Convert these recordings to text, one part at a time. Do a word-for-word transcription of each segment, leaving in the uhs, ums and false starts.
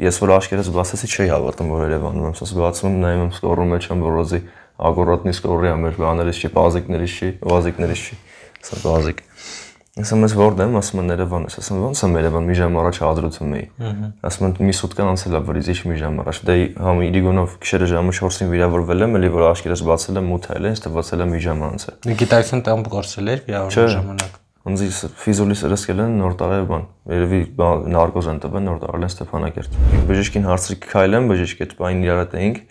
ես որ աշկերտս բացեցի չի հավատում որ Երևանում եմ, ասես բացում եմ, նայում եմ սկորում մեջ եմ որոզի ակուրատնի սկորի եմ, մեր բաներից չի, բազիկներից չի, վազիկներից չի, ասա բազիկ։ Ասում ես որտե՞ղ եմ, ասում են Երևան ես, ասում ո՞նց եմ Երևան, մի ժամ առաջ հադրում էի։ Ասում են մի սուտկա անցել է վրից, ինչ մի ժամ առաջ։ Դե համ Իրիգոնով գիշերը ժամը չորսին վիրավորվել եմ, էլի որ աշկերտս բացել եմ ութ էլ, ինձ թվացել է մի ժամ անց է։ Գիտակցություն տեղ գործել էր վիրավորման ժամանակ։ Ինձ ֆիզոլիս ըրսկել են նոր տարի բան, երևի նարկոզ են տվել, նոր տարել են Ստեփանակերտ։ Բժիշկին հարցրի քայլեմ, բժիշկի հետ բան իրար հետ էինք,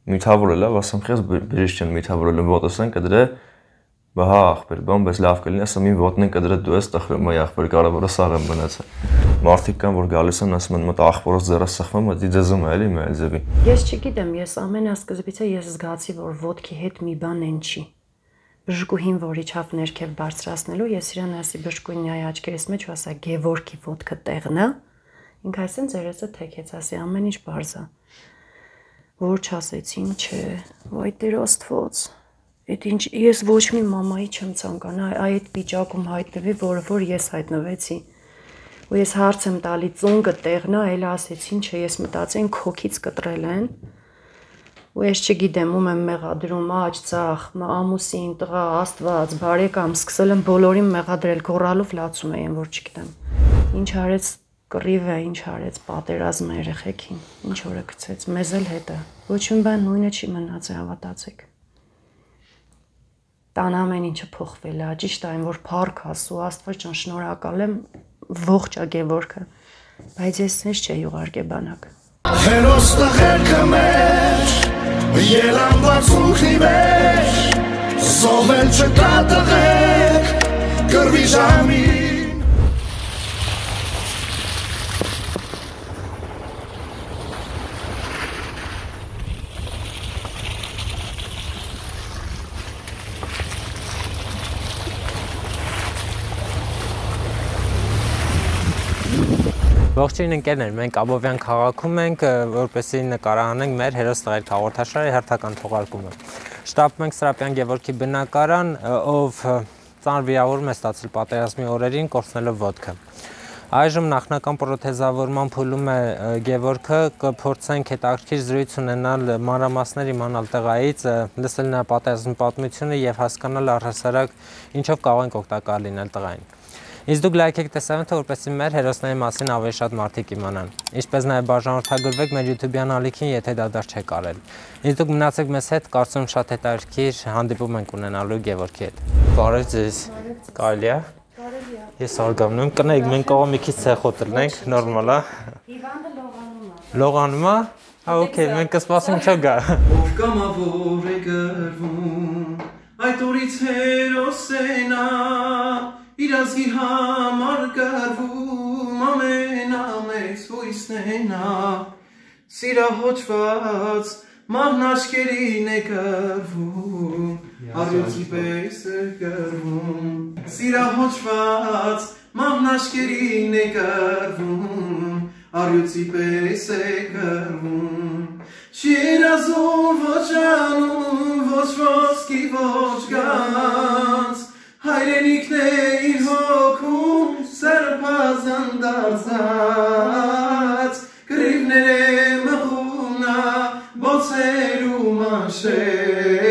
միթավորել է, ասում խես բժիշկ չեն միթավորել, ոտս են կդրե, բա հա ախպեր, բան, բայց լավ կլինի, ասում ին ոտն են կդրե դու ես տխրում այ ախպեր, կարևորը սաղ եմ մնացել։ Մարդիկ կան, որ գալիս են, ասում են մոտ ախպորոս ձեռը սխվում, դի ձեզում է էլի մեր ձևի։ Ես չգիտեմ, ես ամենասկզբից ես զգացի, որ ոտքի հետ մի բան են չի։ Բժշկուհին, որ իջավ ներքև բարձրացնելու, ես իրան ասի բժշկուհին այ աչքերիս մեջ ու ասա Գևորգի ոտքը տեղն է։ Ինքը այսեն ձերեսը թեքեց, ասի ամեն ինչ բարձա։ Որ չասեցին, չէ, վայ Տեր Աստված։ Այդ ինչ ես ոչ մի մամայի չեմ ցանկանա այդ վիճակում հայտնվի, որը որ ես հայտնվեցի։ Ու ես հարց եմ տալի ծունկը տեղն է, այլ ասեցին, չէ, ես մտածեցին քոքից կտրել են։ Ու ես չգիտեմ, ում եմ մեղադրում, աջ, ծախ, ամուսին, տղա, Աստված, բարեկամ, սկսել եմ բոլորին մեղադրել, գոռալով լացում էին, որ չգիտեմ։ Ինչ արեց կռիվը, ինչ արեց պատերազմը երեխեքին, ինչ օրը գցեց, մեզ էլ հետը։ Ոչ մի բան նույնը չի մնացել, հավատացեք։ Տան ամեն ինչը փոխվել է, ճիշտ այն, որ փառք ասու, Աստված ջան, շնորհակալ եմ, ողջ է Գևորգը, բայց ես ինձ չէի ուղարկե բանակ։ Հերոս տղերքը մեր Ելանված ուքնի մեջ Զովել չկա տղեք Կրվի ժամին Ողջույն ընկերներ, մենք Աբովյան քաղաքում ենք, որպեսզի նկարահանենք մեր հերոս տղերք հաղորդաշարի հերթական թողարկումը։ Շտապում ենք Սրապյան Գևորգի բնակարան, ով ծանր վիրավորում է ստացել պատերազմի օրերին, կորցնելով ոտքը։ Այժմ նախնական պրոթեզավորման փուլում է Գևորգը, կփորձենք հետաքրքիր զրույց ունենալ մանրամասներ իմանալ տղայից, լսել նրա պատերազմի պատմությունը եւ հասկանալ առհասարակ ինչով կարող ենք օգտակար լինել տղային։ Իսկ դուք լայք եք տեսանյութը, որպեսզի մեր հերոսների մասին ավելի շատ մարդիկ իմանան։ Ինչպես նաև բաժանորդագրվեք մեր YouTube-յան ալիքին, եթե դա դեռ չեք արել։ Իսկ դուք մնացեք մեզ հետ, կարծում շատ հետաքրքիր հանդիպում ենք ունենալու Գևորգի հետ։ Բարև ձեզ։ Կարելի է։ Կարելի է։ Ես արգավնում եմ, կնայեք, մենք կարող մի քիչ ցեխոտ լինենք, նորմալ է։ Հիվանդը լողանում է։ Լողանում է։ Հա, օքեյ, մենք կսպասենք ինչ գա։ Ով կամավոր է գրվում, այդ օրից հերոսենա Իր ազգի համար գրվում ամենամեծ հույսն է Սիրահոճված մահնաճկերին է գրվում Առյուծի պես է գրվում Սիրահոճված մահնաճկերին է գրվում Առյուծի պես է գրվում Շիրազում ոչ անում ոչ ոսկի ոչ գանց Հայրենիքն է իր հոգում սրբազան դարձած Կռիվներ է մղումնա բոցեր ու մանշեր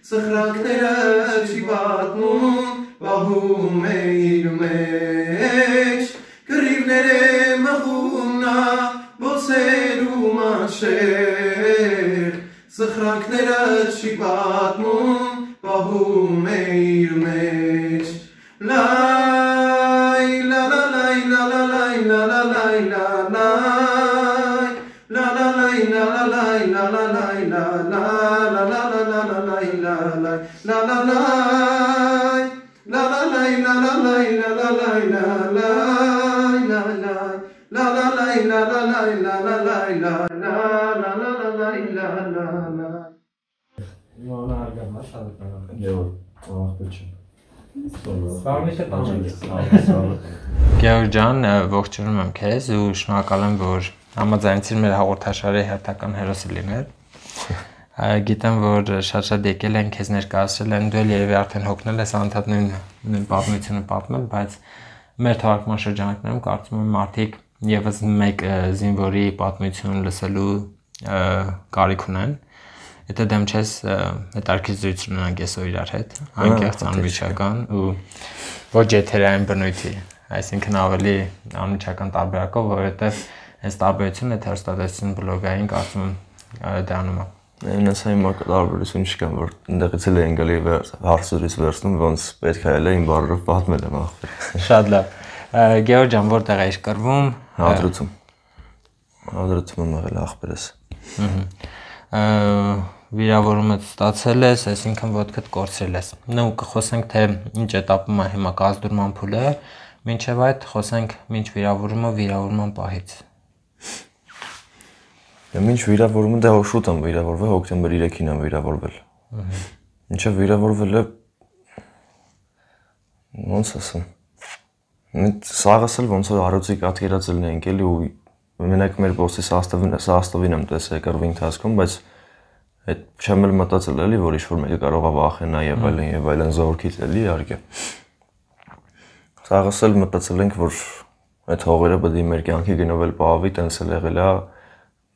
Սխրանքները չի պատմում պահում է իր մեջ Կռիվներ է մղումնա բոցեր ու մանշեր Սխրանքները չի պատմում Պահում է իր մեջ Լայ, լա լա լայ, լա լա լայ, լա լա լայ, լա լայ Լա լա լայ, լա լա լայ, լա լա լայ, լա լա Լա լա լա լա լա լայ, լա լայ, լա լա լայ Լա լա լայ, լա լա լայ, լա լա լայ, լա լայ Լա լայ, լա լա լայ, լա լա լայ, լա լա լայ, լա լա Լա լա լա լայ, լա լա լայ Իմանը արգամ է շարունակը։ Եվ, աղբետ չեմ։ Սաղմիշը Գևորգ ջան, ողջունում եմ քեզ ու շնորհակալ եմ, որ համաձայնեցիր մեր հաղորդաշարի հերթական հերոսը լինել։ Գիտեմ, որ շատ-շատ եկել են քեզ ներկայացրել են, դու էլ երևի արդեն հոգնել ես անդադար նույն պատմությունը պատմել, բայց մեր թողարկման շրջանակներում կարծում եմ մարդիկ եւս մեկ զինվորի պատմություն լսելու կարիք ունեն։ Եթե դեմ չես հետաքրքիր ունենանք այսօր իրար հետ, անկեղծ անմիջական ու ոչ եթերային բնույթի, այսինքն ավելի անմիջական տարբերակով, որովհետև այս տարբերությունը հեռուստատեսություն բլոգային կարծում դառնում է։ Այնպես հիմա տարբերություն չկա, որ ընդեղից էլ են գալի հարցերից վերցնում, ոնց պետք է էլ իմ բառերով պատմել եմ ախպեր։ Շատ լավ։ Գեորգ ջան, որտեղ էիր կռվում։ Հադրութում։ Հադրութում եմ եղել ախպերս։ Վիրավորումը ստացել ես, այսինքն ոտքդ կորցրել ես։ Նո կխոսենք թե ինչ էտապում է հիմա կազդուրման փուլը, մինչև այդ խոսենք ինչ վիրավորումը վիրավորման պահից։ Մինչ վիրավորումը դա շուտ եմ վիրավորվել, հոկտեմբեր երեքին եմ վիրավորվել։ Մինչև վիրավորվելը ոնց ասեմ։ Սաղս էլ ոնց որ արոցի կատկերած լինենք էլի ու մենակ մեր բոսի սաստավին սաստավին եմ տեսել կռվի ընթացքում, բայց այդ չեմ էլ մտածել էլի, որ ինչ-որ մեկը կարող է վախենա եւ այլն եւ այլն զորքից էլի իհարկե։ Սաղս էլ մտածել ենք, որ այդ հողերը պետք է մեր կյանքի գնով էլ պահվի, տենց էլ եղել է։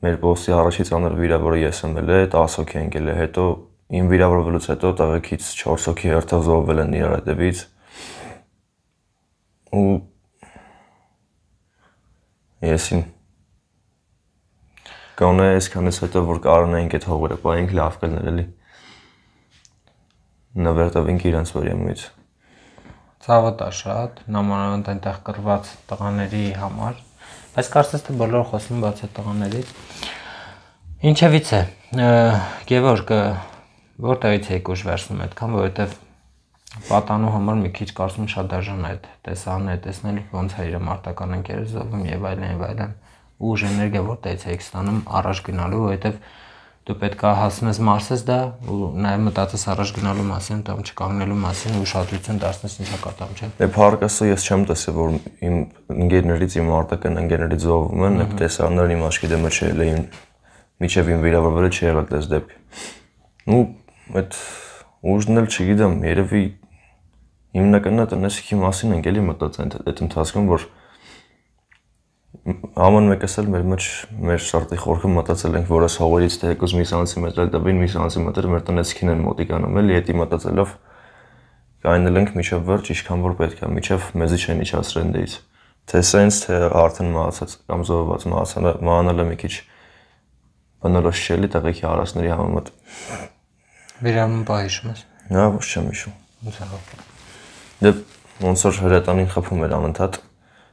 Մեր բոսի առաջից անր վիրավորը ես եմ էլ է, տասը հոգի ընկել է, հետո իմ վիրավորվելուց հետո տղեկից չորս հոգի հերթով զոհվել են իրար հետևից։ Ու եսին Գոնե այսքանից հետո որ կարողանայինք այդ հողերը պահենք լավ կլներ էլի։ Նվերտավենք իրենց վարյամից։ Ցավոտ է շատ, նամանավանդ այնտեղ կռված տղաների համար, բայց կարծես թե բոլորը խոսում բաց այդ տղաներից։ Ինչևից է, Գևորգ, որտեղից եք ուժ վերցնում այդքան, որովհետև պատանու համար մի քիչ կարծում շատ դաժան է այդ տեսանը, տեսնել ոնց է իր մարտական ընկերը զոհվում եւ այլն եւ այլն։ Ուժ էներգիա որտեղից եք ստանում առաջ գնալու, որովհետև դու պետք է հասնես Մարսես դա ու նաև մտածես առաջ գնալու մասին, կամ չկանգնելու մասին ու ուշադրություն դարձնես ինչա կատամ, չէ՞։ Դե փառքասը ես չեմ տեսել, որ իմ ընկերներից իմ արտական ընկերներից զոհվում են, այդ տեսաններն իմ աչքի դեմը չէ, իմ միջև իմ վիրավորվելը չի եղել դες դեպք։ Ու այդ ուժն էլ չգիտեմ, երևի հիմնականը տնեսիքի մասին ենք էլի մտածել այդ ընթացքում, որ Աման մեկս էլ մեր մեջ մեր շարտի խորքը մտածել ենք, որ այս հողերից թեկուզ մի սանտիմետր տվին, մի սանտիմետր մեր տնեցքին են մոտիկանում էլի, հետի մտածելով կայնել ենք միջև վերջ, ինչքան որ պետք է, միջև մեզի չեն իջացրել դից։ Թե սենց, թե արդեն մահացած կամ զոհված մահանալը մի քիչ բնորոշ չէ էլի տեղեքի արասների համեմատ։ Վիրավորումը պահ հիշում ես։ Հա, ոչ չեմ հիշում։ Ոնց է հոգ։ Դե ոնց որ հրետանին խփում էր անընդհատ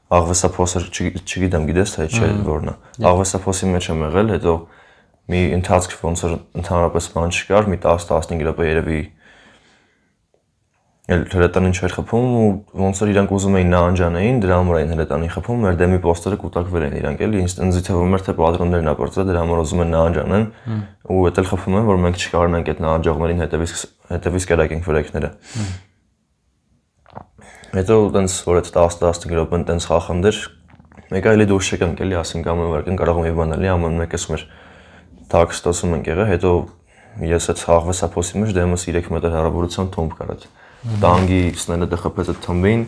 Աղվեսափոսը չգիտեմ, գիտես թե չէ որն է։ Աղվեսափոսի մեջ եմ եղել, հետո մի ընթացք ոնց որ ընդհանրապես բան չկար, մի տասը տասնհինգ րոպե երևի էլ հրետանին չէր խփում ու ոնց որ իրանք ուզում էին նահանջանային, դրա համար էին հրետանին խփում, մեր դեմի պոստերը կուտակվել են իրանք էլի, ինձ թվում էր թե պատրոններն ապրծել, դրա համար ուզում են նահանջանեն ու էդ էլ խփում են, որ մենք չկարողանանք այդ նահանջողներին հետևից հետևից կերակենք վրեքները։ Հետո տենց որ այդ տասը տասնհինգ րոպեն տենց խախնդեր, մեկը էլի դուրս չեկանք էլի, ասենք ամեն վարքին կարող մի բան էլի, ամեն մեկս մեր տաքստոսում ենք եղել, հետո ես այդ աղվեսափոսի մեջ դեմս երեք մետր հեռավորության թոմբ կար այդ տանգի սնելը դե խփեց այդ թմբին,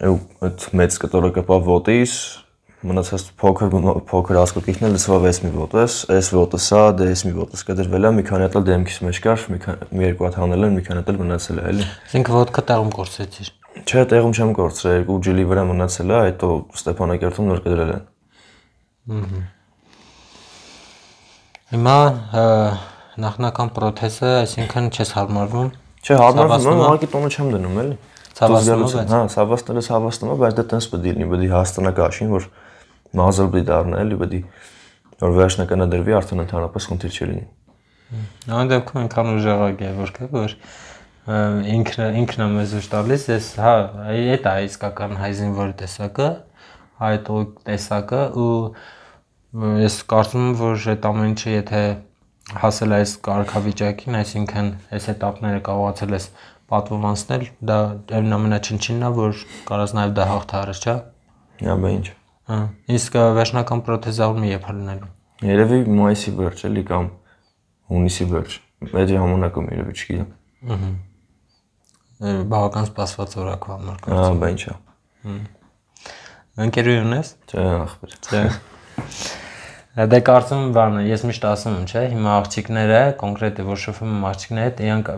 ու այդ մեծ կտորը կպավ ոտից, մնացած փոքր փոքր ասկոկիքն էլ լսվավ էս մի ոտես, էս ոտս է, դե էս մի ոտս կդրվել է, մի քանի հատ դեմքիս մեջ կար, մի երկու հատ հանել են, մի քանի հատ մնացել է, էլի։ Ինքը ոտքը տեղում կորցրեցիր։ Չէ, տեղում չեմ կորցրել, երկու ջլի վրա մնացել է, հետո Ստեփանակերտում նոր կդրել են։ Ահա։ Հիմա նախնական պրոթեզը, այսինքն չես հարմարվում։ Չէ, հարմարվում եմ, ուղղակի տոնը չեմ դնում, էլի։ Ցավացնում է։ Հա, ցավացնելը ցավացնում է, բայց դա տենց պետք է լինի, պետք է հաստանա կաշին, որ մազը պետք է դառնա, էլի, պետք է որ վերջնականը դրվի, արդեն ընդհանրապես խնդիր չի լինի։ Այն դեպքում այնքան ուժեղ է Գևորգը, որ ինքն ինքն է մեզ ուժ տալիս, ես հա, այդ է իսկական հայ զինվորի տեսակը, հայտո տեսակը ու ես կարծում եմ, որ այդ ամեն ինչը եթե հասել այս կարգավիճակին, այսինքն այս էտապները կարողացել ես պատվովանցնել, դա ամենաչնչինն է, որ կարաս նաև դա հաղթահարես, չէ՞։ Հա, բա ինչ։ Հա, իսկ վերջնական պրոթեզավորումը երբ է լինելու։ Երևի մայիսի վերջ էլի կամ հունիսի վերջ։ Այդ ժամանակում երևի չգիտեմ։ Ահա։ Բավական սպասված օրակու համար։ Հա, բա ինչ է։ Ընկերություն ես։ Չէ, ախպեր։ Չէ։ Դե կարծում եմ բանը, ես միշտ ասում եմ, չէ, հիմա աղջիկները, կոնկրետ որ շփվում եմ աղջիկների հետ, իրանք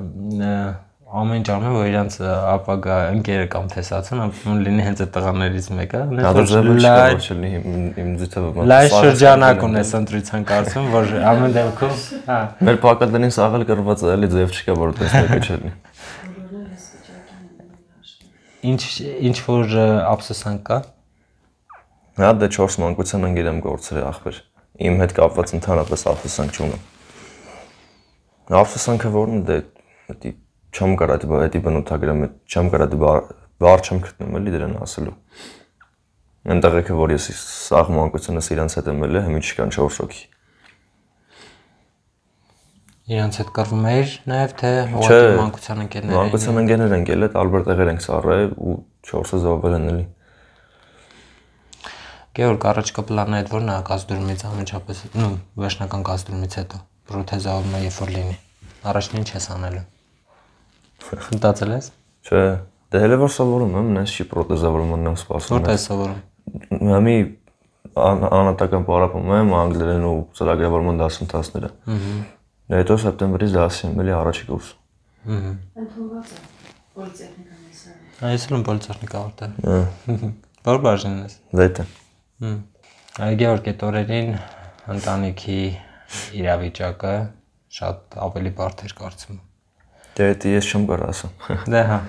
ամեն ինչ անում են, որ իրանք ապագա ընկերը կամ տեսածն ապրում լինի հենց այդ տղաներից մեկը։ Իմ ձիթը լայ շրջանակ ունես ընտրության կարծում, որ ամեն դեպքում, հա։ Մեր պակատներին սաղել կրված է, էլի ձև չկա, որ տեսնեկը չլինի։ Ինչ ինչ որ ափսոսանք կա։ Հա, դե չորս մանկության ընկեր եմ գործել ախպեր։ Իմ հետ կապված ընդհանրապես ափսոսանք չունեմ։ Ափսոսանքը որն է, դե չեմ կարող այդ բնութագրեմ, չեմ կարող բառ չեմ գտնում էլի դրան ասելու։ Այնտեղ եկը որ ես սաղ մանկությունս իրանց հետ եմ ելել, հիմա չկան չորս հոգի։ Իրանց հետ կռվում էիր նաև թե ուղղակի մանկության ընկերներ։ Մանկության ընկերներ ենք ելել, տարբեր տեղեր ենք սառել ու չորսը զոհվել են էլի։ Գեորգ, առաջկա պլանը այդ որն է կազդուրումից ամենչապես, նու վերջնական կազդուրումից հետո պրոթեզավորումը երբ որ լինի։ Առաջին ինչ ես անելու։ Մտածել ես։ Չէ, դե հələ որ սովորում եմ, նես չի պրոթեզավորումն եմ սպասում։ Որտե՞ղ ես սովորում։ Համի անհատական պարապում եմ անգլերեն ու ծրագրավորման դասընթացները։ Ահա։ Դե հետո սեպտեմբերից դասի եմ էլի առաջի կուրս։ Ահա։ Ընդունված է պոլիտեխնիկան ես։ Այս էլ պոլիտեխնիկա ավարտել։ Ահա։ Որ բաժինն ես։ Վետը։ Հմ։ Այ Գեորգ, այդ օրերին ընտանիքի իրավիճակը շատ ավելի բարդ էր կարծում։ Դե դա ես չեմ կարող ասեմ։ Դե հա։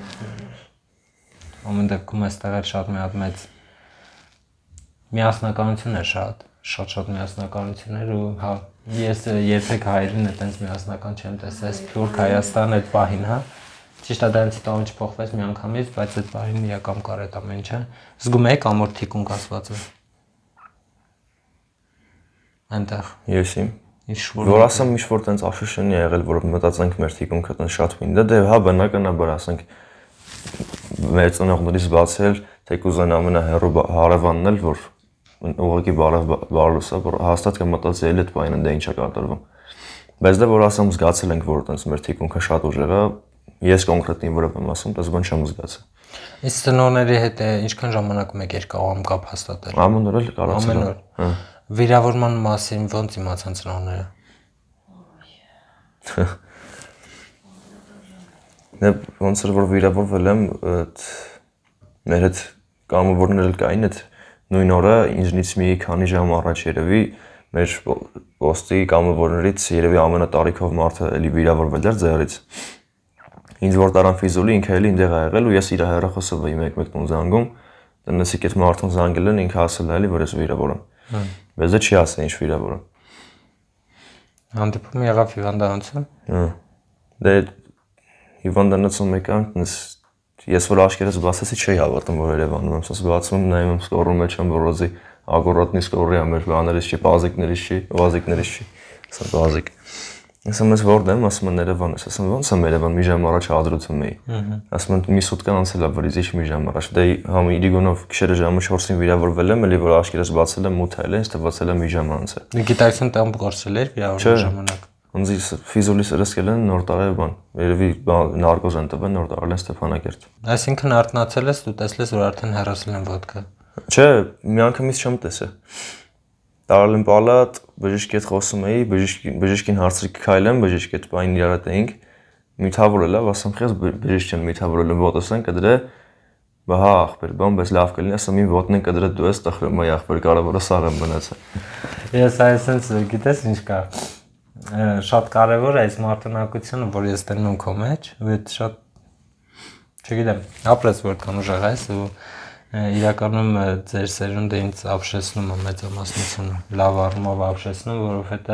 Ամեն դեպքում այստեղ էլ շատ մի հատ մեծ միասնականություն էր շատ, շատ-շատ միասնականություն էր ու հա ես երբեք հայերին այտենց միասնական չեմ տեսել, Սփյուռք Հայաստան այդ պահին, հա։ Ճիշտ է դրանից հետո ինչ փոխվեց միանգամից, բայց այդ պահին իրական կար այդ ամեն ինչը։ Զգում եք ամոր թիկուն կասվածը։ Այնտեղ։ Ես իմ Ինչ որ որ ասեմ ինչ որ տենց աշշնի ա եղել, որ մտածենք մեր թիկունքը տեն շատ մին։ Դե հա բնականաբար ասենք մեր ծնողներից բացել, թեկուզ այն ամենահեռու հարևանն էլ որ ուղղակի բարև բարլուսա, որ հաստատ կմտածի էլ այդ բանը դե ինչա կատարվում։ Բայց դե որ ասեմ զգացել ենք, որ տենց մեր թիկունքը շատ ուժեղ է, ես կոնկրետ ինձ վրա եմ ասում, դες բան չեմ զգացել։ Իսկ ծնողների հետ ինչքան ժամանակ մեկ էր կարող կապ հաստատել։ Ամեն օր էլ կարողացել։ Ամեն օր։ Հա։ Վիրավորման մասին ոնց իմացան ծնողները։ Դե ոնց որ վիրավորվել եմ, մեր հետ կամավորներ էլ կային, այդ նույն օրը ինձնից մի քանի ժամ առաջ երևի մեր պոստի կամավորներից երևի ամենատարիքով մարդը էլի վիրավորվել էր ձեռից։ Ինձ որ տարան ֆիզուլի ինքը էլի ինտեղ ա եղել ու ես իր հեռախոսով էի մեկ-մեկ տուն զանգում, տնեցիք այդ մարդուն զանգել են, ինքը ասել է էլի որ ես վիրավոր եմ։ Բայց դա չի ասել ինչ վիրավոր եմ։ Հանդիպում եղավ հիվանդանոցում։ Հա։ Դե հիվանդանոցում եկան, ես որ աշկերտս բացեցի չի հավատում որ Երևանում եմ, ասես բացում նայում եմ սկորում մեջ եմ որոզի ակուրատնի սկորի ամեր բաներից չի, բազիկներից չի, վազիկներից չի, ասա բազիկ։ Ասում ես որտե՞ղ եմ, ասում են Երևան ես, ասում ոնց եմ Երևան մի ժամ առաջ հադրուցում էի։ Ասում են մի սուտկան անցել է վրից ինչ մի ժամ առաջ։ Դե համ Իրիգոնով գիշերը ժամը չորսին վիրավորվել եմ, էլի որ աշկերտս բացել եմ մութ այլ, ինձ թվացել է մի ժամ անց է։ Գիտակցություն տամ գործել էր վիրավորման ժամանակ։ Ինձ ֆիզուլիս ըրսկել են նոր տարի բան, երևի նարկոզ են տվել նոր տարել են Ստեփանակերտ։ Այսինքն արթնացել ես ու տեսել ես որ արդեն հեռացել են ոդկա։ Չէ, միանգամից չեմ տեսել։ Տարել եմ պալատ, բժիշկի հետ խոսում էի, բժիշկին հարցրի քայլեմ, բժիշկի հետ բան իրար հետ էինք։ Միթավորել է, ասում խես բժիշկ չեն միթավորել եմ ոտս են կդրե։ Բա հա ախպեր, բան բայց լավ կլինի, ասում իմ ոտն են կդրե դու ես տխրում այ ախպեր կարևորը սաղ եմ մնացել։ Ես այսպես գիտես ինչ կա։ Շատ կարևոր է այս մարտունակությունը, որ ես տենում եմ քո մեջ, ու այդ շատ չգիտեմ, ապրես որքան ուժեղ ես ու իրականում ձեր սերունդը ինձ ապշեցնում է մեծամասնությունը, լավ առումով ապշեցնում, որովհետև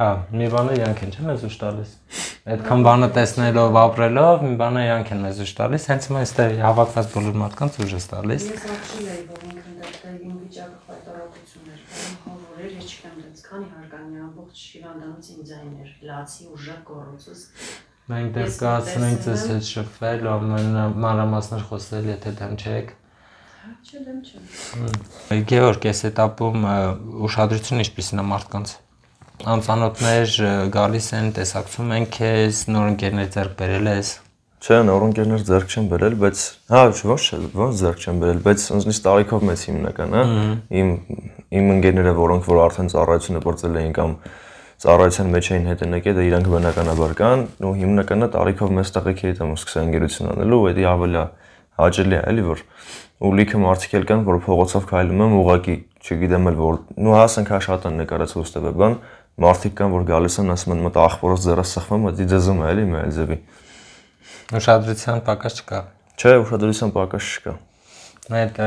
հա, մի բանը իրանք են, չէ՞ մեզ ուշ տալիս։ Այդքան բանը տեսնելով, ապրելով, մի բանը իրանք են մեզ ուշ տալիս, հենց հիմա այստեղ հավաքված բոլոր մարդկանց ուժ է տալիս։ Ես ապշել էի, որ ինքն դեպտեր իմ վիճակը խայտարակություն էր, հավորեր, ես չգիտեմ դից քանի հարգանի ամբողջ հիվանդանոց իմ ձայնն էր, լացի ուժեղ գոռոցս։ Մենք դեռ կհասցնենք ձեզ հետ շփվել, մանրամասներ խոսել, եթե դեմ չեք։ Չէ, դեմ չեմ։ Գեորգ, այս этаպում ուշադրությունը ինչպիսին է մարդկանց։ Անծանոթներ գալիս են, տեսակցում են քեզ, նոր ընկերներ ձեռք բերել ես։ Չէ, նոր ընկերներ ձեռք չեն բերել, բայց հա, ոչ, ոնց ձեռք չեն բերել, բայց ինձնից տարիքով մեծ հիմնական, հա։ Իմ իմ ընկերները, որոնք որ արդեն ծառայությունը գործել էին կամ ծառայության մեջ էին հետ եկել, դա իրանք բնականաբար կան, ու հիմնականը տարիքով մեծ տղեկ հետ եմ սկսել ընկերություն անելու, ու դա ավելի հաճելի է, էլի որ ու լիքը մարդիկ էլ կան, որ փողոցով քայլում են, ուղակի, չգիտեմ էլ որ նու հասանք հաշատան նկարած հոստեվը բան, մարդիկ կան, որ գալիս են, ասում են, մտա ախորոս ձեռս սխվում, դա դեզում է, էլի մեր ձևի։ Ուշադրության պակաս չկա։ Չէ, ուշադրության պակաս չկա։ Այդ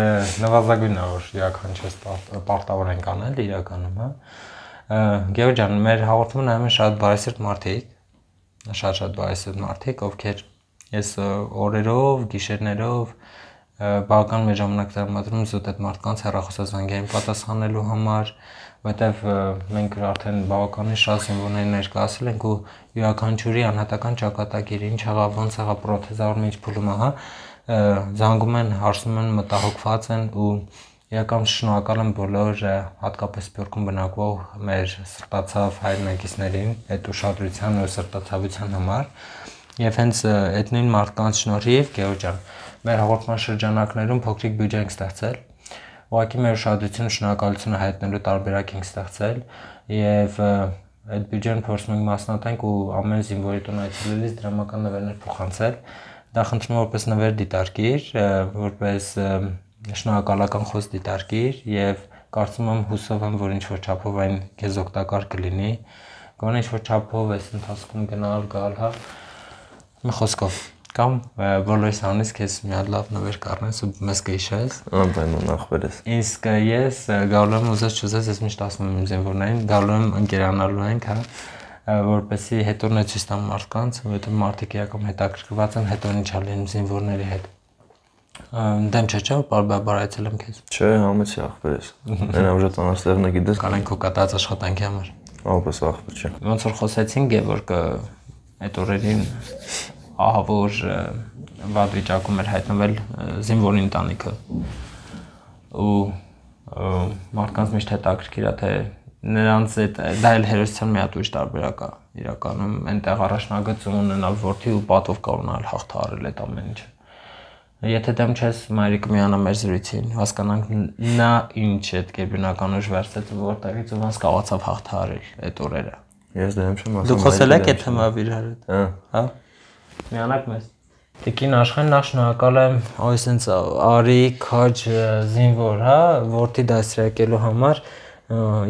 նվազագույնն է, որ յուրաքանչյուր պարտավոր ենք անել իրականում, հա։ Գեորգ ջան, մեր հաղորդումը նայում են շատ բարեսիրտ մարդիկ, շատ-շատ բարեսիրտ մարդիկ, ովքեր ես օրերով, գիշերներով բավական մեր ժամանակ տրամադրում զուտ այդ մարդկանց հեռախոսազանգերին պատասխանելու համար, որտեվ մենք արդեն բավականին շատ զինվորներ ներկայացել ենք ու յուրաքանչյուրի անհատական ճակատագիր, ինչ եղավ, ոնց եղավ պրոթեզավորումը, ինչ փուլում է, հա, զանգում են, հարցնում են, մտահոգված են ու իրական շնորհակալ եմ բոլոր հատկապես Սփյուռքում բնակվող մեր սրտացավ հայրենակիցներին այդ ուշադրության ու սրտացավության համար եւ հենց այդ նույն մարդկանց շնորհիվ Գեորգ ջան մեր հաղորդման շրջանակներում փոքրիկ բյուջե ենք ստեղծել ուղղակի մեր ուշադրությունը շնորհակալությունը հայտնելու տարբերակ ենք ստեղծել եւ այդ բյուջեն փորձում ենք մասնատենք ու ամեն զինվորի տուն այցելելիս դրամական նվերներ փոխանցել դա խնդրում եմ որպես նվեր դիտարկիր որպես շնորհակալական խոսք դիտարկիր եւ կարծում եմ հուսով եմ որ ինչ որ չափով այն քեզ օգտակար կլինի գոնե ինչ որ չափով էս ընթացքում գնալ գալ հա մի խոսքով կամ բոլորիս անից քեզ մի հատ լավ նվեր կառնես ու մեզ կհիշես անպայման ախպերես իսկ ես գալու եմ ուզես չուզես ես միշտ ասում եմ զինվորներին գալու եմ ընկերանալու ենք հա որպեսի հետո նա ցույց տամ մարդկանց որովհետեւ մարդիկ իրական հետաքրքրված են հետո ինչ ալին զինվորների հետ դեմ չէ չէ բարբար այցել եմ քեզ չէ համեցի ախպերես այն ուժը տանաստեղն է գիտես կանենք քո կատարած աշխատանքի համար ահապես ախպեր չէ ոնց որ խոսեցին Գևորգը այդ օրերին ահավոր վատ վիճակում էր հայտնվել զինվորի ընտանիքը ու մարդկանց միշտ հետաքրքիր է թե նրանց այդ դա էլ հերոսության մի հատ ուրիշ տարբերակ է իրականում այնտեղ առաջնագծում ունենալ որդի ու պատով կառնալ հաղթահարել այդ ամեն ինչը եթե դեմ չես մայրիկը միանա մեր զրույցին հասկանանք նա ինչ է այդ գերբնական ուժ վերցրեց որտեղից ու ոնց կարողացավ հաղթահարել այդ օրերը ես դեմ չեմ ասում դու խոսել եք այդ թեմայով իր հետ հա հա միանաք մեզ Տիկին Աշխեն նախ շնորհակալ եմ այսպես արի քաջ զինվոր հա որդի դասրակելու համար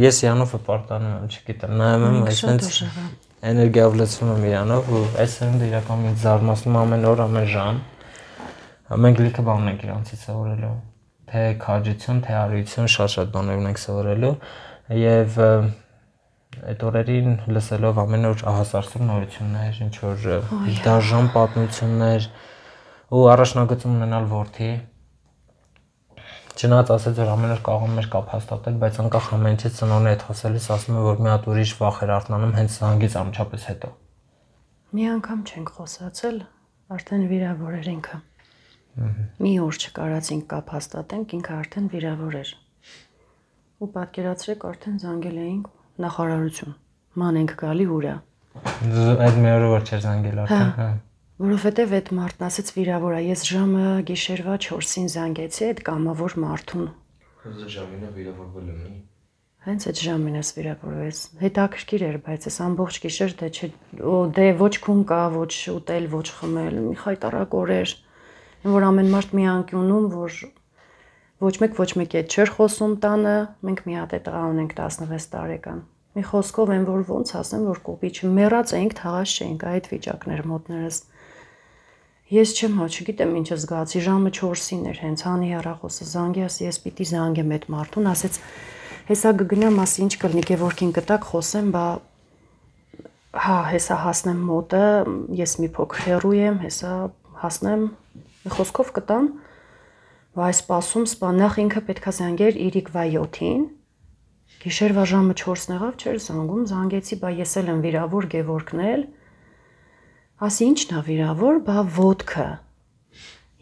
ես Իրանով պարտանում եմ չգիտեմ նայում եմ այսպես էներգիա վլեցվում եմ Իրանով ու այս սերունդը իրականում ինձ զարմացնում ամեն օր ամեն ժամ մենք լիքը բան ենք իրանցից սովորելու թե քաջություն թե արիություն շատ-շատ բաներ ունենք սովորելու եւ այդ օրերին լսելով ամեն օր ահասարսուր նորություններ ինչ որ դաժան պատմություններ ու առաջնագծում ունենալ որդի չնայած ասեց որ ամեն օր կարող եմ կապ հաստատել բայց անկախ ամեն ինչից ծնողն է այդ խոսելիս ասում է որ մի հատ ուրիշ վախ էր արթնանում հենց զանգից ամչապես հետո մի անգամ չենք խոսացել արդեն վիրավոր էր ինքը մի օր չկարածինք կապ հաստատենք ինքը արդեն վիրավոր էր ու պատկերացրեք արդեն զանգել էինք նախարարություն ման ենք գալի ուրա այդ մի օրը որ չէր զանգել արդեն հա որովհետև այդ մարդն ասեց վիրավոր է ես ժամը գիշերվա չորսին զանգեցի այդ կամավոր մարդուն հենց այդ ժամին է վիրավորվել եմ հենց այդ ժամին ես վիրավորվեց հետաքրքիր էր բայց այս ամբողջ գիշեր դե չէ դե ոչ քուն կա ոչ ուտել ոչ խմել մի խայտարակ օրեր որ ամեն մարդ մի անկյունում որ ոչ մեկ ոչ մեկ այդ չէր խոսում տանը մենք մի հատ է տղա ունենք տասնվեց տարեկան մի խոսքով են որ ոնց ասեմ որ կոպիչ մեռած էինք թաղած չէինք այդ վիճակներ մոտներս ես չեմ հա չգիտեմ ինչ զգացի ժամը չորսին էր հենց հանի հեռախոսը զանգի ասի ես պիտի զանգեմ այդ մարդուն ասեց հեսա գգնամ ասի ինչ կլինի Գևորգին կտակ խոսեմ բա հա հեսա հասնեմ մոտը ես մի փոքր հեռու եմ հեսա հասնեմ մի խոսքով կտամ վայ սպասում սպա նախ ինքը պետքա զանգեր իրիկվա յոթին գիշերվա ժամը չորսն եղավ չէր զանգում զանգեցի բա ես էլ եմ վիրավոր Գևորգն էլ ասի ինչն է վիրավոր բա ոդկը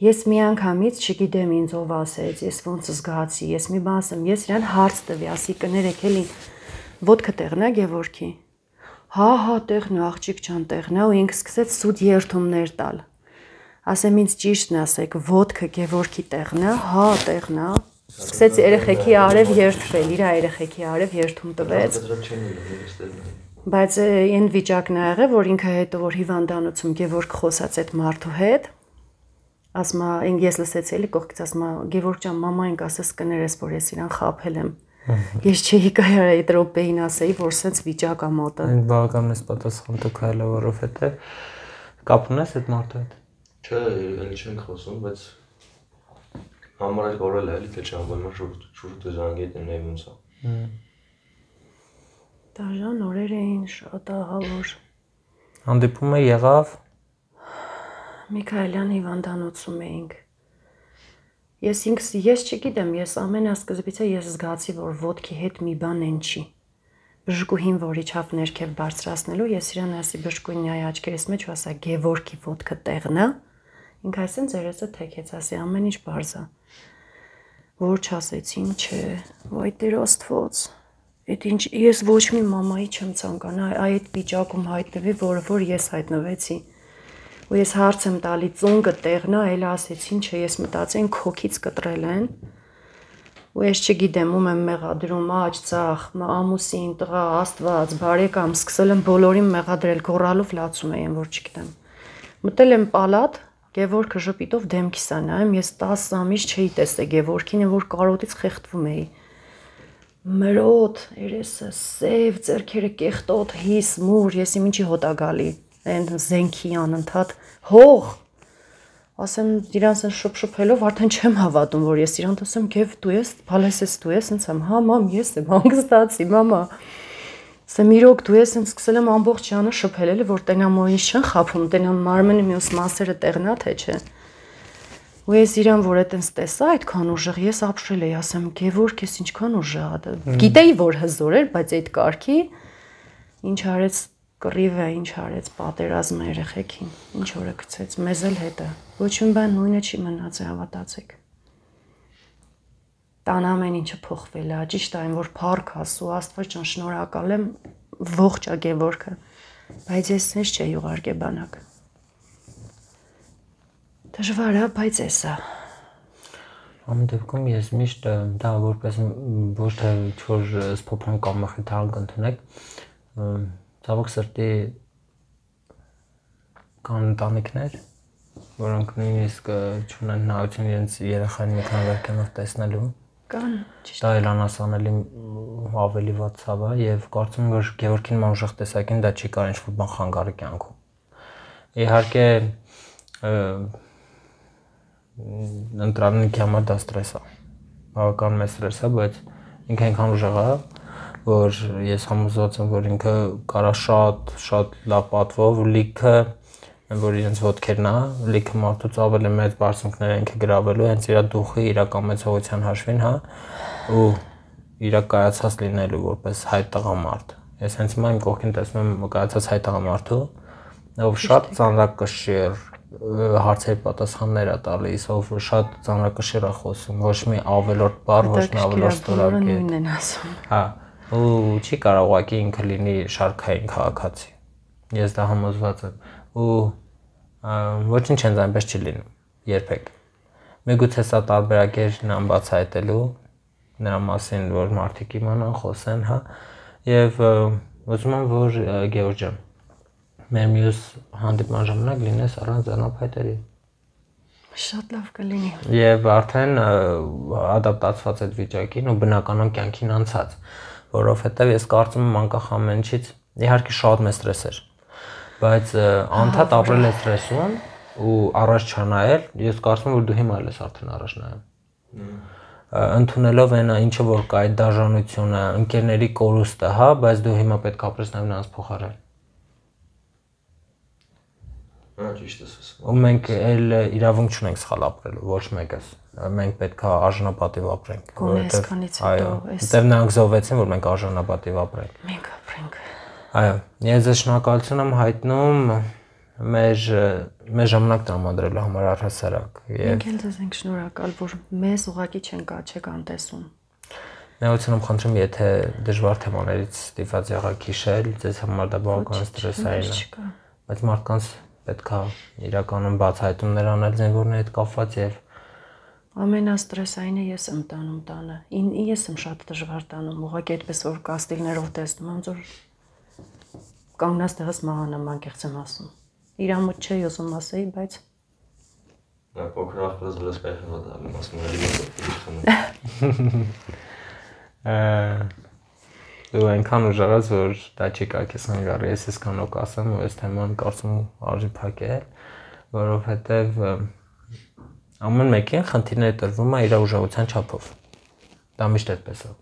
ես մի անգամից չգիտեմ ինձ ով ասեց ես ոնց զգացի ես մի բան ասեմ ես իրան հարց տվի ասի կներեք էլի ոդկը տեղն է Գևորգի հա հա տեղն է աղջիկ ջան տեղն է ու ինքը սկսեց սուտ երթումներ տալ ասեմ ինձ ճիշտն ասեք, ոտքը Գևորգի տեղն է, հա, տեղն է։ Սկսեց երեխեքի արև երթվել, իր երեխեքի արև երթում տվեց։ Բայց այն վիճակն ա եղել, որ ինքը հետո որ հիվանդանոցում Գևորգ խոսած այդ մարդու հետ, ասма ես լսեցի էլի կողքից ասма Գևորգ ջան, մամայինք ասես կներես, որ ես իրան խաբել եմ։ Ես չէի կարող այդ րոպեին ասեի, որ սենց վիճակ ա մոտը։ Այն բավականին պատասխան տուք հայլը, որովհետեւ կապ ունես այդ մարդու հետ։ Չէ, էլի չենք խոսում, բայց համարել կորել է, էլի թե չանվորում շուրջ շուրջ զանգետ նույն ոնց է։ Դաժան օրեր էին շատ ահավոր։ Հանդիպումը եղավ Միքայելյան հիվանդանոցում էինք։ Ես ինքս ես չգիտեմ, ես ամենասկզբից ես զգացի, որ ոտքի հետ մի բան են չի։ Բժշկուհին, որ իջավ ներքև բարձրացնելու, ես իրան ասի բժշկուհին նայ աչքերիս մեջ ու ասա Գևորգի ոտքը տեղն է։ Ինքը այսեն ծերեսը թեքեց, ասի ամեն ինչ բարձ է։ Որ չասեցին, չէ, վայ Տեր Աստված։ Այդ ինչ ես ոչ մի մամայի չեմ ցանկանա այդ վիճակում հայտնվի, որը որ ես հայտնվեցի։ Ու ես հարց եմ տալի ծունգը տեղն է, էլ ասեցին, չէ, ես մտածեցին քոքից կտրել են։ Ու ես չգիտեմ, ում եմ մեղադրում, աջ, ծախ, ամուսին, տղա, Աստված, բարեկամ, սկսել եմ բոլորին մեղադրել, գոռալով լացում եմ, որ չգիտեմ։ Մտել եմ պալատ, Գևորգը ժպիտով դեմքիս ա նայում, ես տասը ամիս չէի տեսել Գևորգին, որ կարոտից խեղդվում էի։ Մրոտ, երեսը սև, ձեռքերը կեղտոտ, հիս, մուր, ես իմ ինչի հոտ ա գալի, այն զենքի անընդհատ հող։ Ասեմ իրանց են շփշփելով, արդեն չեմ հավատում, որ ես իրան ասեմ, Գև դու ես, բալես ես դու ես, ինձ եմ, հա մամ, ես եմ, հանգստացի, մամա։ Ասեմ իրոք դու ես, ինձ սկսել եմ ամբողջ ջանը շփել, էլի որ տենամ ու ինչ չեն խափում, տենամ մարմենի մյուս մասերը տեղն է, թե չէ։ Ու ես իրան որ այտենց տեսա այդքան ուժեղ, ես ապշել էի, ասեմ Գևորգ ես ինչքան ուժեղ ա։ Գիտեի որ հզոր էր, բայց այդ կարգի ինչ արեց կռիվ է, ինչ արեց պատերազմը երեխեքին, ինչ օրը գցեց, մեզ էլ հետը։ Ոչ մի բան նույնը չի մնաց, հավատացեք։ Տան ամեն ինչը փոխվել է, ճիշտ այն որ փառք ասու, Աստված ջան, շնորհակալ եմ, ողջ ա Գևորգը, բայց ես ինձ չէի ուղարկե բանակ։ Դժվար է, բայց էսա։ Ամեն դեպքում ես միշտ դա որպես ոչ թե ինչ-որ սփոփան կամ մխիթարան կընդունեք, ցավոք սրտի կան ընտանիքներ, որոնք նույնիսկ չունեն հնարավորություն իրենց երեխային մի քանի վերքենով տեսնելու։ Կան, ճիշտ։ Դա էլ անասանելի ավելի վատ ցավ է եւ կարծում եմ որ Գևորգին նման ուժեղ տեսակին դա չի կարող ինչ-որ բան խանգարի կյանքում։ Իհարկե ընտրանիքի համար դա ստրես է, բավական մեծ ստրես է, բայց ինքը այնքան ուժեղ է, որ ես համոզված եմ, որ ինքը կարա շատ շատ լավ պատվով լիքը, որ իրենց ոտքերն է, լիքը մարդուց ավելի մեծ բարձունքներ ինքը գրավելու, հենց իր դուխի, իր կամեցողության հաշվին, հա, ու իր կայացած լինելու որպես հայ տղամարդ։ Ես հենց հիմա իմ կողքին տեսնում եմ կայացած հայ տղամարդու, ով շատ ծանրակշիռ հարցերի պատասխաններ է տալիս, ով շատ ծանրակշիռ է խոսում, ոչ մի ավելորդ բառ, ոչ մի ավելորդ ստորագրի։ Հա, ու չի կարող ուղղակի ինքը լինի շարքային քաղաքացի։ Ես դա համոզված եմ։ Ու ոչինչ հենց այնպես չի լինում, երբեք։ Միգուցե սա տարբերակ է նրան բացահայտելու, նրա մասին, որ մարդիկ իմանան, խոսեն, հա, եւ ուզում եմ, որ Գևորգ ջան, մեր մյուս հանդիպման ժամանակ լինես առանց անապայտերի։ Շատ լավ կլինի։ Եվ արդեն ադապտացված այդ վիճակին ու բնականon կյանքին անցած, որովհետեւ ես կարծում եմ անկախ ամեն ինչից, իհարկե շատ մեծ ստրես էր, բայց անդադ ապրել է ստրեսում ու առաջ չնայել, ես կարծում եմ որ դու հիմա էլ ես արդեն առաջ նայում։ Ընդունելով այն ինչը որ կա այդ դաժանությունը, ընկերների կորուստը, հա, բայց դու հիմա պետք է ապրես նաև նրանց փոխարեն։ Հա, ճիշտ ես ասում։ Ու մենք էլ իրավունք չունենք սխալ ապրելու, ոչ մեկս։ Մենք պետք է արժանապատիվ ապրենք, որովհետև այո, այստեղ նրանք զոհվեցին, որ մենք արժանապատիվ ապրենք։ Մենք ապրենք։ Այո, ես ձեզ շնորհակալություն եմ հայտնում մեր մեր ժամանակ տրամադրելու համար առհասարակ։ Մենք էլ ձեզ ենք շնորհակալ, որ մեզ ուղղակի չենք աչեք անտեսում։ Ներողություն եմ խնդրում, եթե դժվար թեմաներից ստիպված եղաք հիշել, ձեզ համար դա բավական ստրեսային է։ Բայց մարդկանց պետք է իրականում բացահայտումներ անել զինվորների հետ կապված եւ ամենաստրեսայինը ես եմ տանում տանը։ Ին ես եմ շատ դժվար տանում, ուղղակի այդպես որ կաստիլներով տեսնում եմ, որ կանգնած տեղս մահանամ, անկեղծ եմ ասում։ Իրամոտ չէ, ուզում ասեի, բայց Դա փոքր ախպերս վրաս կայքն ադալում, ասում էլի մոտով Դու այնքան ուժեղած, որ դա չի կայքես հանգարի, ես այսքան օք ասեմ, ու այս թեման կարծում արժի փակել, որովհետև ամեն մեկին խնդիրները տրվում է իր ուժեղության չափով։ Դա միշտ այդպես է։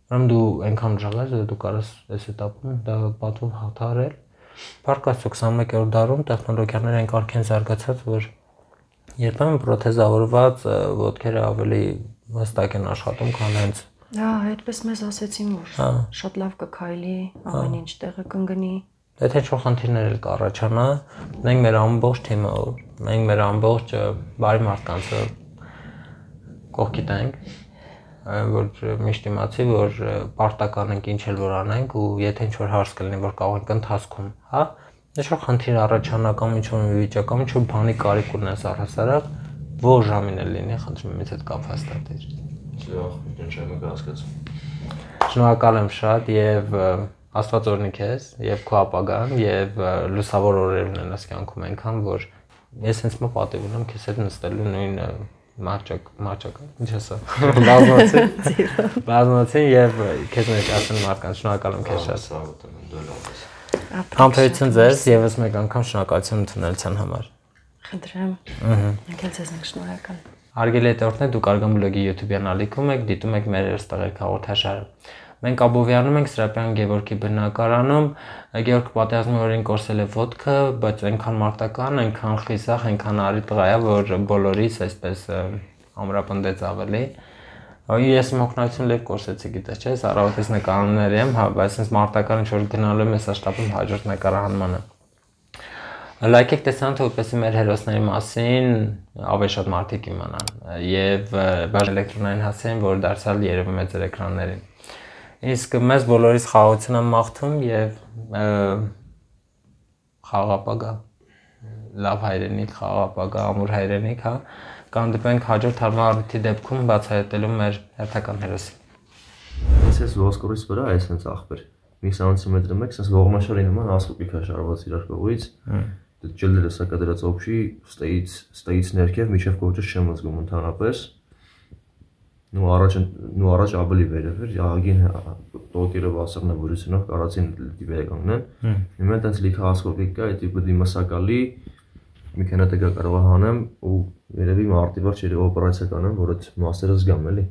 Ուրեմն դու այնքան ուժեղած, որ դու կարես այս этаպում դա պատվով հաղթահարել։ Փառք Աստծո քսանմեկերորդ դարում տեխնոլոգիաները այն կարգ են զարգացած, որ երբեմն պրոթեզավորված ոտքերը ավելի հստակ են աշխատում, քան հենց Հա, այդպես մեզ ասեցին, որ շատ լավ կքայլի, ամեն ինչ տեղը կընկնի։ Եթե ինչ-որ խնդիրներ էլ կառաջանա, մենք մեր ամբողջ թիմը, մենք մեր ամբողջ բարի մարդկանցը կողքիդ ենք, որ միշտ իմացի, որ պարտական ենք ինչ էլ որ անենք ու եթե ինչ-որ հարց կլինի, որ կարող ենք ընթացքում, հա, ինչ-որ խնդիր առաջանա կամ ինչ-որ մի վիճակ կամ ինչ-որ բանի կարիք ունես առհասարակ, որ ժամին էլ լինի, խնդրում եմ ինձ հետ կապ հաստատիր։ Շնորհակալ եմ շատ եւ Աստված օրհնի քեզ եւ քո ապագան եւ լուսավոր օրեր ունենաս կյանքում այնքան որ ես հենց մը պատիվ ունեմ քեզ հետ նստելու նույն մարճակ մարճակ ինչ ասա բազմացի բազմացի եւ քեզ ներկայացնեմ մարդկանց շնորհակալ եմ քեզ շատ Համբերություն ձեզ եւս մեկ անգամ շնորհակալություն ընդունելության համար Խնդրեմ ըհը քեզ ենք շնորհակալ Հարգելի հետևորդներ, դուք Արգամ բլոգի YouTube-յան ալիքում եք, դիտում եք մեր երստաղեք հաղորդաշարը։ Մենք Աբովյանում ենք Սրապյան Գևորգի բնակարանում, Գևորգ պատերազմի օրին կորսել է ոտքը, բայց այնքան մարտական, այնքան խիսախ, այնքան արի տղա է, որ բոլորիս այսպես ամրապնդեց ավելի։ Ես իմ օգնություն լավ կորսեցի, գիտես չէ, առավոտից նկարահանումներ եմ, հա, բայց այս մարտական ինչ որ գնալու եմ, ես շտապում հաջորդ նկարահանմանը։ Լայքեք տեսանք, որպեսզի մեր հերոսների մասին ավելի շատ մարդիկ իմանան եւ բաժ էլեկտրոնային հասցեն, որ դարձյալ երևում է ձեր էկրաններին։ Իսկ մեզ բոլորիս խաղաղություն եմ մաղթում եւ խաղապագա լավ հայրենիք, խաղապագա, ամուր հայրենիք, հա, կհանդիպենք հաջորդ հարմարիթի դեպքում բացահայտելու մեր հերթական հերոսին։ Ես ոսկորից վրա այս հենց ախպեր մի սանտիմետր մեկ, sense ողմաշարի նման ասկուպիկ է շարված իրար կողից։ Ջելերը սա կդրած օբշի ստեից ստեից ներքև միջև կողջը չեմ զգում ընդհանրապես։ Նու առաջ նու առաջ ավելի վերև էր, ահագին տոկերը վասռնավորությունով կարածին դիվեր կանգնեն։ Հիմա այդպես լիքը ասկոպիկ կա, այդ տիպը դիմասակալի մի քանի տեղ կարող եմ հանեմ ու երևի մարտի վերջ երևի օպերացիա կանեմ, որ այդ մասերը զգամ էլի։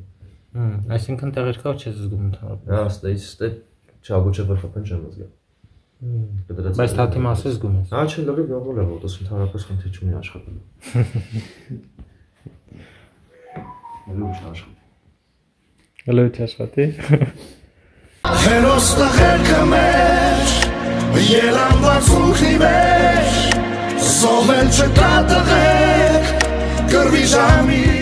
Այսինքն տեղեր կա չես զգում ընդհանրապես։ Հա, ստեից ստե չաբուչը վերխփեն չեմ զգում։ Բայց թաթի մասը զգում ես։ Հա, չէ, լավ է, լավ է, ոտոս ընդհանրապես խնդիր չունի աշխատելու։ Լույս աշխատի։ Լույս աշխատի։ Հերոս տղերքը մեր, ելանված ուխի մեր, զովել չկա տղեր, կրվի ժամի